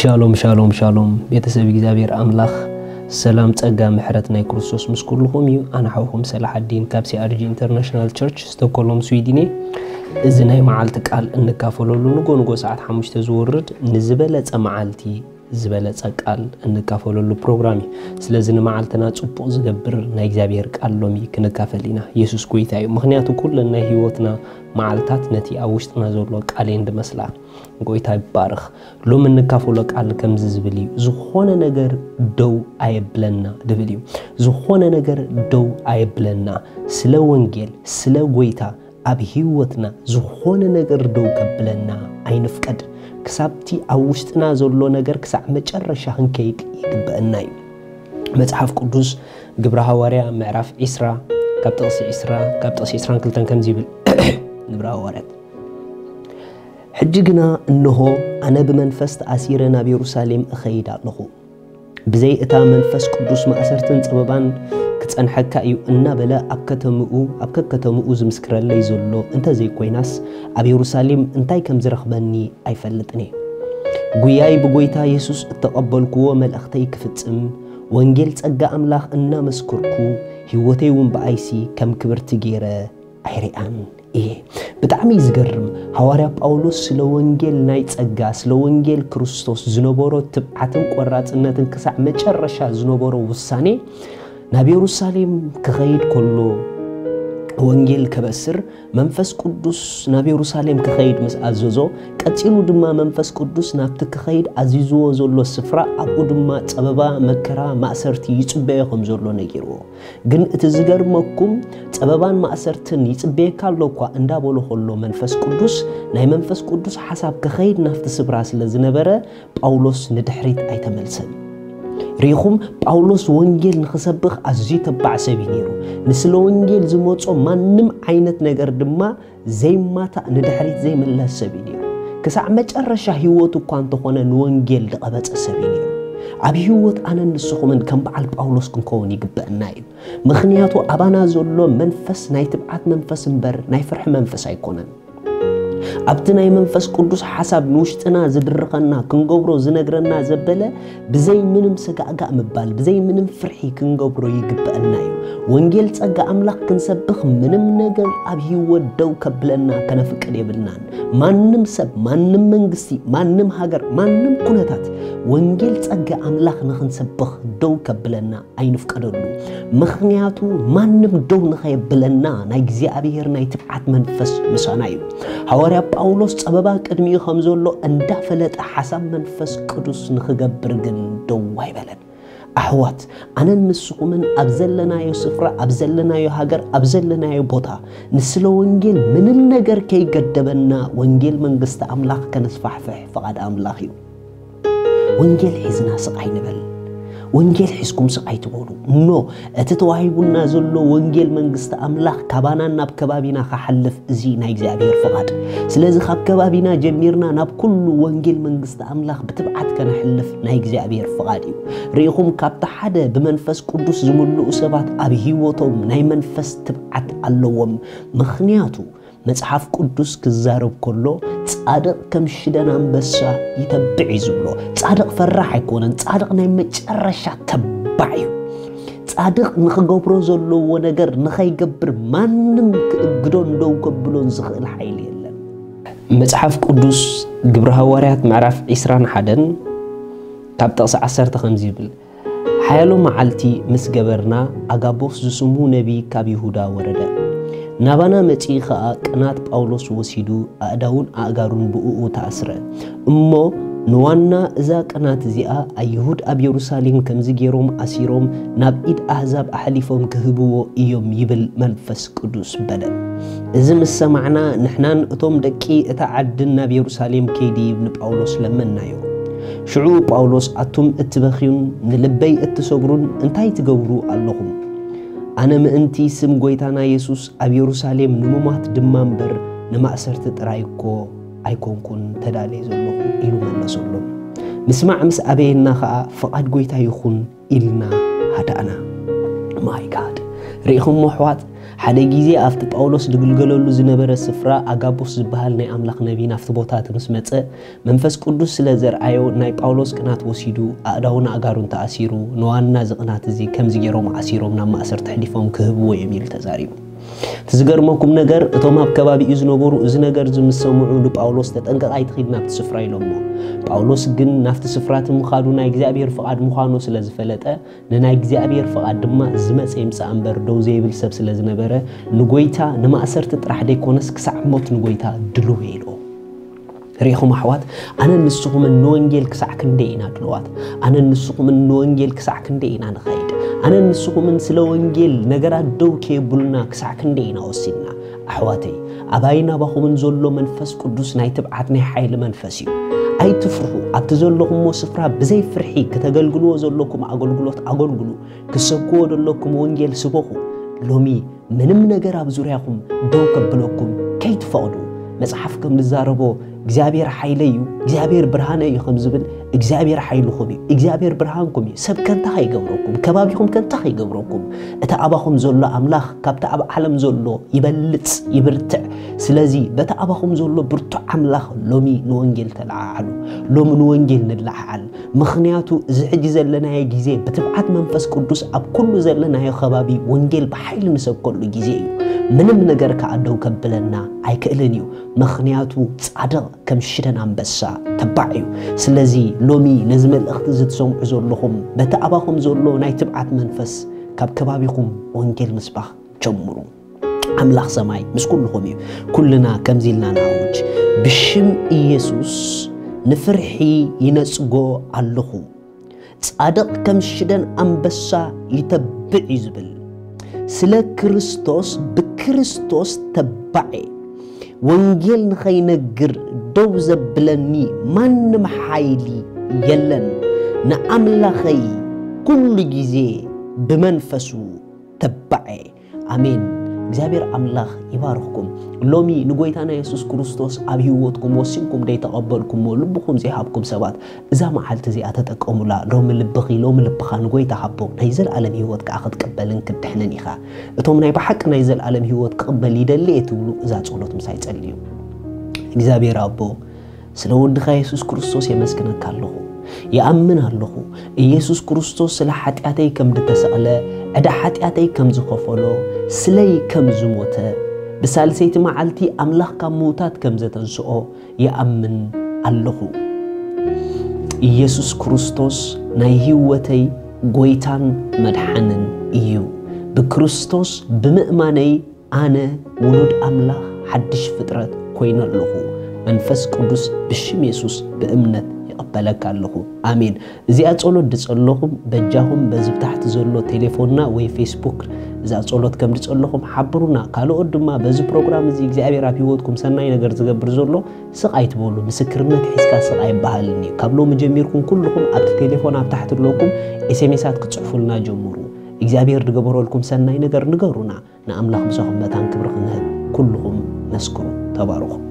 ሻሎም ሻሎም ሻሎም፣ ቤተሰብ እግዚኣብሔር ኣምላኽ ሰላም፣ ጸጋ፣ ምሕረት ናይ ክርስቶስ ምስ ኩልኹም እዩ። ኣነ ሓውኹም ሰላሓዲን ካብ ሲኣርጂ ኢንተርናሽናል ቸርች ስቶኮሎም ስዊድን እየ። እዚ ናይ መዓልቲ ቃል እንካፈለሉ ንጎ ንጎ ሰዓት ሓሙሽተ ዝወርድ ንዝበለጸ መዓልቲ ዝበለጸ ቃል እንካፈለሉ ፕሮግራም እዩ። ስለዚ ንመዓልትና ጽቡቕ ዝገብር ናይ እግዚኣብሔር ቃል ሎሚ ክንካፈል ኢና። የሱስ ጎይታ እዩ። ምኽንያቱ ኩለን ናይ ህይወትና መዓልታት ነቲ ኣብ ውሽጥና ዘሎ ቃል እየን ድመስላ። ጎይታ ይባረኽ። ሎሚ እንካፈሎ ቃል ከምዚ ዝብል እዩ፣ ዝኾነ ነገር ደው ኣየብለና ድብል እዩ። ዝኾነ ነገር ደው ኣየብለና። ስለ ወንጌል፣ ስለ ጎይታ ኣብ ህይወትና ዝኾነ ነገር ደው ከብለና ኣይንፍቀድ። ክሳብቲ ኣብ ውሽጥና ዘሎ ነገር ክሳዕ መጨረሻ ክንከይድ ይግበአና እዩ። መጽሓፍ ቅዱስ ግብረ ሃዋርያ ምዕራፍ ዒስራ ካብ ጥቕሲ ዒስራ ካብ ጥቕሲ ዒስራን ክልተን ከምዚ ይብል። ግብረ ሃዋርያት ሕጂ ግና እንሆ ኣነ ብመንፈስ ተኣሲረ ናብ የሩሳሌም እኸይድ ኣለኹ። ብዘይ እታ መንፈስ ቅዱስ ማእሰርትን ጸበባን ክጸንሐካ እዩ እናበለ ኣብ ከተምኡ ኣብ ከከተምኡ ዝምስክረለይ ዘሎ እንተዘይኮይናስ ኣብ የሩሳሌም እንታይ ከም ዝረኽበኒ ኣይፈልጥን እየ። ጉያይ ብጎይታ የሱስ እተቐበልክዎ መልእኽተይ ክፍጽም ወንጌል ጸጋ ኣምላኽ እናመስከርኩ ህይወተይ እውን ብኣይሲ ከም ክብርቲ ገይረ ኣይሪኣን እየ። ብጣዕሚ እዩ ዝገርም። ሃዋርያ ጳውሎስ ስለ ወንጌል ናይ ጸጋ፣ ስለ ወንጌል ክርስቶስ ዝነበሮ ትብዓትን ቆራጽነትን ክሳዕ መጨረሻ ዝነበሮ ውሳኔ ናብ የሩሳሌም ክኸይድ ከሎ ወንጌል ከበስር መንፈስ ቅዱስ ናብ የሩሳሌም ክኸይድ ምስ ኣዘዞ፣ ቀጺሉ ድማ መንፈስ ቅዱስ ናብቲ ክኸይድ ኣዚዝዎ ዘሎ ስፍራ ኣብኡ ድማ ጸበባ፣ መከራ፣ ማእሰርቲ ይጽበዮ ከም ዘሎ ነጊርዎ። ግን እቲ ዝገርመኩም ጸበባን ማእሰርትን ይጽበየካ ኣሎ እኳ እንዳበሎ ከሎ መንፈስ ቅዱስ ናይ መንፈስ ቅዱስ ሓሳብ ክኸይድ ናብቲ ስፍራ ስለ ዝነበረ ጳውሎስ ንድሕሪት ኣይተመልሰን። ርኢኹም ጳውሎስ ወንጌል ንኽሰብኽ ኣዝዩ ተባዕ ሰብ እዩ ነይሩ። ንስለ ወንጌል ዝመጾ ማንም ዓይነት ነገር ድማ ዘይማታእ ንድሕሪት ዘይምለስ ሰብ እዩ ነይሩ። ክሳዕ መጨረሻ ህይወቱ እኳ እንተኾነ ንወንጌል ዝቐበጸ ሰብ እዩ ነይሩ። ኣብ ህይወት ኣነን ንስኹምን ከም በዓል ጳውሎስ ክንከውን ይግበአና እዩ። ምኽንያቱ ኣባና ዘሎ መንፈስ ናይ ትብዓት መንፈስ እምበር ናይ ፍርሒ መንፈስ ኣይኮነን። ኣብቲ ናይ መንፈስ ቅዱስ ሓሳብ ንውሽጥና ዝድርኸና ክንገብሮ ዝነግረና ዘበለ ብዘይ ምንም ሰጋእጋእ ምባል ብዘይ ምንም ፍርሒ ክንገብሮ ይግበአና እዩ። ወንጌል ጸጋ ኣምላኽ ክንሰብኽ ምንም ነገር ኣብ ህይወት ደው ከብለና ከነፍቅድ የብልናን። ማንም ሰብ፣ ማንም መንግስቲ፣ ማንም ሃገር፣ ማንም ኩነታት ወንጌል ጸጋ ኣምላኽ ንኽንሰብኽ ደው ከብለና ኣይንፍቀደሉ። ምኽንያቱ ማንም ደው ንኸየብለና ናይ እግዚኣብሔር ናይ ትብዓት መንፈስ ምሳና እዩ። ሃዋርያ ጳውሎስ ጸበባ ቅድሚኡ ከም ዘሎ እንዳፈለጠ ሓሳብ መንፈስ ቅዱስ ንኽገብር ግን ደው ኣይበለን። ኣሕዋት ኣነን ንስኹምን ኣብ ዘለናዮ ስፍራ ኣብ ዘለናዮ ሃገር ኣብ ዘለናዮ ቦታ ንስለ ወንጌል ምንም ነገር ከይገደበና ወንጌል መንግስቲ ኣምላኽ ከነስፋሕፍሕ ፍቓድ ኣምላኽ እዩ። ወንጌል ሒዝና ስቕ ኣይንበል። ወንጌል ሒዝኩም ስቕ ኣይትበሉ። ኖ፣ እቲ ተዋሂቡና ዘሎ ወንጌል መንግስቲ ኣምላኽ ካባናን ናብ ከባቢና ክሓልፍ እዚ ናይ እግዚኣብሔር ፍቓድ። ስለዚ ካብ ከባቢና ጀሚርና ናብ ኩሉ ወንጌል መንግስቲ ኣምላኽ ብትብዓት ከነሕልፍ ናይ እግዚኣብሔር ፍቓድ እዩ። ርኢኹም፣ ካብቲ ሓደ ብመንፈስ ቅዱስ ዝምልኡ ሰባት ኣብ ህይወቶም ናይ መንፈስ ትብዓት ኣለዎም። ምኽንያቱ መጽሓፍ ቅዱስ ክዛረብ ከሎ ጻድቕ ከም ሽደን ኣንበሳ ይተብዕ እዩ ዝብሎ። ጻድቕ ፈራሕ ኣይኮነን። ጻድቕ ናይ መጨረሻ ተባዕ እዩ። ጻድቕ ንኽገብሮ ዘለዎ ነገር ንኸይገብር ማንም ክእግዶን ደው ከብሎን ዝኽእል ሓይሊ የለን። መጽሓፍ ቅዱስ ግብረ ሃዋርያት ምዕራፍ ዒስራን ሓደን ካብ ጥቕሲ ዓሰርተ ከምዚ ይብል፣ ሓያሎ መዓልቲ ምስ ገበርና ኣጋቦስ ዝስሙ ነቢይ ካብ ይሁዳ ወረደ። ናባና መጺኡ ኸኣ ቅናት ጳውሎስ ወሲዱ ኣእዳዉን ኣእጋሩን ብእኡ ተኣስረ። እሞ ንዋና እዛ ቅናት እዚኣ ኣይሁድ ኣብ የሩሳሌም ከምዚ ገይሮም ኣሲሮም ናብ ኢድ ኣህዛብ ኣሕሊፎም ክህብዎ እዮም ይብል መንፈስ ቅዱስ በለ። እዚ ምስ ሰማዕና ንሕናን እቶም ደቂ እታ ዓድን ናብ የሩሳሌም ከይድይብ ንጳውሎስ ለመንናዮ። ሽዑ ጳውሎስ ኣቱም እትበኽዩን ንልበይ እትሰብሩን እንታይ ትገብሩ ኣለኹም? ኣነ ምእንቲ ስም ጐይታና የሱስ ኣብ የሩሳሌም ንሙማት ድማ እምበር ንማእሰርቲ ጥራይ እኮ ኣይኮንኩን ተዳልየ ዘለኹ ኢሉ መለሰሎም። ምስማዕ ምስ ኣበየና ኸኣ ፍቓድ ጐይታ ይኹን ኢልና ሃዳእና። ማይ ጋድ ርኢኹሞ ኣሕዋት፣ ሓደ ግዜ ኣብቲ ጳውሎስ ዝግልገለሉ ዝነበረ ስፍራ ኣጋቡስ ዝበሃል ናይ ኣምላኽ ነቢይ ናብቲ ቦታ እቲ ምስ መጸ፣ መንፈስ ቅዱስ ስለ ዘርኣዮ ናይ ጳውሎስ ቅናት ወሲዱ ኣእዳውን ኣእጋሩን ተኣሲሩ፣ ንዋና እዚ ቅናት እዚ ከምዚ ገይሮም ኣሲሮም ናብ ማእሰርቲ ኣሕሊፎም ክህብዎ እዮም ኢሉ ተዛሪቡ። እቲ ዝገርመኩም ነገር፣ እቶም ኣብ ከባቢኡ ዝነበሩ እዚ ነገር እዚ ምስ ሰምዑ ንጳውሎስ፣ "ተጠንቀቕ፣ ኣይትኺድ ናብቲ ስፍራ" ኢሎሞ። ጳውሎስ ግን ናብቲ ስፍራ እቲ ምኻዱ ናይ እግዚኣብሔር ፍቓድ ምዃኑ ስለ ዝፈለጠ፣ ንናይ እግዚኣብሔር ፍቓድ ድማ ዝመጸ ይምጻእ እምበር ደው ዘይብል ሰብ ስለ ዝነበረ፣ ንጎይታ ንማእሰርቲ ጥራሕ ደይኮነስ ክሳዕ ሞት ንጎይታ ድልው ኢሉ። ርኢኹም ኣሕዋት፣ ኣነን ንስኹምን ንወንጌል ክሳዕ ክንደይ ኢና ድልዋት? ኣነን ንስኹምን ንወንጌል ክሳዕ ክንደይ ኢና ንኸይድ? ኣነን ንስኹምን ስለ ወንጌል ነገራት ደው ከየብሉና ክሳዕ ክንደይ ኢና ወሲንና? ኣሕዋተይ፣ ኣባይን ኣባኹምን ዘሎ መንፈስ ቅዱስ ናይ ትብዓት ናይ ሓይሊ መንፈስ እዩ። ኣይትፍርሑ። ኣብቲ ዘለኹምዎ ስፍራ ብዘይ ፍርሒ ክተገልግልዎ ዘለኩም ኣገልግሎት ኣገልግሉ። ክሰብክዎ ዘለኩም ወንጌል ስበኹ። ሎሚ ምንም ነገር ኣብ ዙርያኹም ደው ከብለኩም ከይትፈቕዱ። መጽሓፍ ከም ዝዛረቦ፣ "እግዚኣብሔር ሓይለይ እዩ፣ እግዚኣብሔር ብርሃነይ እዩ" ከም ዝብል፣ እግዚኣብሔር ሓይልኹም እዩ፣ እግዚኣብሔር ብርሃንኩም እዩ። ሰብ ከንታ ከይገብረኩም፣ ከባቢኹም ከንታ ከይገብረኩም፣ እቲ ኣባኹም ዘሎ ኣምላኽ ካብቲ ኣብ ዓለም ዘሎ ይበልጽ፣ ይብርትዕ። ስለዚ በቲ ኣባኹም ዘሎ ብርቱዕ ኣምላኽ ሎሚ ንወንጌል ተለዓዓሉ። ሎሚ ንወንጌል ንለዓዓል። ምኽንያቱ እዚ ሕጂ ዘለናዮ ግዜ ብትብዓት መንፈስ ቅዱስ ኣብ ኩሉ ዘለናዮ ከባቢ ወንጌል ብሓይሊ ንሰብከሉ ግዜ እዩ። ምንም ነገር ከኣ ደው ከብለና ኣይክእልን እዩ። ምኽንያቱ ጻድቕ ከም ሽደን ኣንበሳ ተባዕ እዩ። ስለዚ ሎሚ ነዚ መልእኽቲ እዚ ትሰምዑ ዘለኹም፣ በቲ ኣባኹም ዘሎ ናይ ትብዓት መንፈስ ካብ ከባቢኹም ወንጌል ምስባኽ ጀምሩ። ኣምላኽ ሰማይ ምስ ኩልኹም እዩ። ኩልና ከምዚ ኢልና ንኣውጅ፣ "ብሽም ኢየሱስ ንፍርሒ ይነጽጎ ኣለኹ። ጻድቕ ከም ሽደን ኣንበሳ ይተብዕ" እዩ ዝብል። ስለ ክርስቶስ፣ ብክርስቶስ ተባዕ እየ። ወንጌል ንኸይነግር ደው ዘብለኒ ማንም ሓይሊ የለን። ንኣምላኸይ ኩሉ ግዜ ብመንፈሱ ተባዕ እየ። ኣሜን። እግዚኣብሔር ኣምላኽ ይባርኽኩም። ሎሚ ንጎይታና የሱስ ክርስቶስ ኣብ ህይወትኩም ወሲንኩም ደይተቐበልኩምዎ፣ ልብኹም ዘይሃብኩም ሰባት፣ እዛ መዓልቲ እዚኣ ተጠቀሙላ። ሎሚ ልብኺ፣ ሎሚ ልብኻ ንጎይታ ሃቦ። ናይ ዘለኣለም ህይወት ከኣ ክትቅበልን ክትድሕንን ኢኻ። እቶም ናይ ብሓቂ ናይ ዘለኣለም ህይወት ክቕበል ይደሊ እየ ትብሉ፣ እዛ ጸሎት ምሳይ ጸልዩ። እግዚኣብሔር ኣቦ፣ ስለ ወድኻ የሱስ ክርስቶስ የመስግነካ ኣለኹ። ይኣምን ኣለኹ፣ ኢየሱስ ክርስቶስ ስለ ሓጢኣተይ ከም ዝተሰቕለ፣ ዕዳ ሓጢኣተይ ከም ዝኸፈሎ፣ ስለይ ከም ዝሞተ፣ ብሳልሰይቲ መዓልቲ ኣምላኽ ካብ ምዉታት ከም ዘተንስኦ ይኣምን ኣለኹ። ኢየሱስ ክርስቶስ ናይ ህይወተይ ጎይታን መድሓንን እዩ። ብክርስቶስ ብምእማነይ ኣነ ውሉድ ኣምላኽ ሓድሽ ፍጥረት ኮይነ ኣለኹ። መንፈስ ቅዱስ ብሽም የሱስ ብእምነት ይቕበለካ ኣለኹ። ኣሜን። እዚኣ ጸሎት ድጸለኹም፣ በጃኹም በዚ ብታሕቲ ዘሎ ቴሌፎንና ወይ ፌስቡክ እዛ ጸሎት ከም ድጸለኹም ሓብሩና። ካልኦት ድማ በዚ ፕሮግራም እዚ እግዚኣብሔር ኣብ ህይወትኩም ሰናይ ነገር ዝገብር ዘሎ ስቕ ኣይትበሉ። ምስክርነት ሒዝካ ስቕ ኣይበሃልን እዩ። ካብ ሎሚ ጀሚርኩም ኩልኹም ኣብቲ ቴሌፎን ኣብ ታሕቲ ኣለኩም ኤስኤምኤሳት ክጽሕፉልና ጀምሩ። እግዚኣብሔር ዝገበረልኩም ሰናይ ነገር ንገሩና። ንኣምላኽ ምሳኹም መታን ክብሪ ክንህብ ኩልኹም መስክሩ። ተባረኹ።